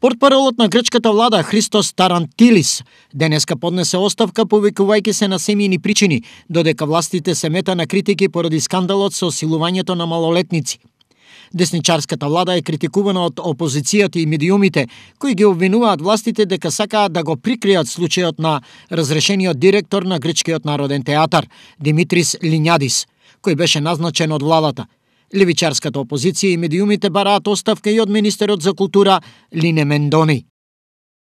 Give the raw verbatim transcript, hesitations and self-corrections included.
Портпаролот на грчката влада Христос Тарантилис денеска поднесе оставка повикувајќи се на семејни причини, додека властите се мета на критики поради скандалот со силувањето на малолетници. Десничарската влада е критикувана од опозицијата и медиумите, кои ги обвинуваат властите дека сакаат да го прикријат случајот на разрешениот директор на Грчкиот народен театар, Димитрис Лињадис, кој беше назначен од владата. Левичарската опозиција и медиумите бараат оставка и од министерот за култура Лине Мендони.